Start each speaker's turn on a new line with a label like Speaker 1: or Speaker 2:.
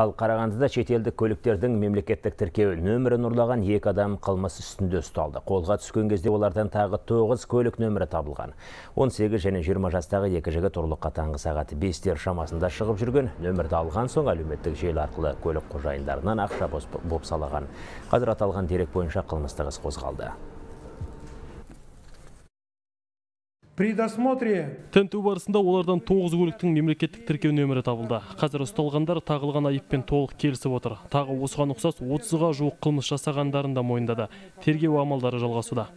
Speaker 1: Ал Қарағандыда шетелдік көліктердің мемлекеттік тіркеу нөмірін ұрлаған 2 адам қылмыс үстінде ұсталды. Қолға түскен кезде олардан тағы 9 көлік нөмірі табылған. 18 және 20 жастағы 2 жігіт ұрлыққа таңғы сағат 5-тер шамасында шығып жүрген. Нөмірді алған соң әлеуметтік желі арқылы көлік қожайындарынан ақша бопсалаған. Қазір аталған дерек бойынша қылмыстық іс қозғалды.
Speaker 2: При досмотре
Speaker 3: тінту барысында олардан 9 көліктің мемлекеттік тіркеу нөмірі табылды. Қазір ұсталғандар тағылған айыппен толық келісіп отыр. Тағы осыған ұқсас 30-ға жуық қылмыс жасағандарын да мойындады. Тергеу амалдары жалғасуда.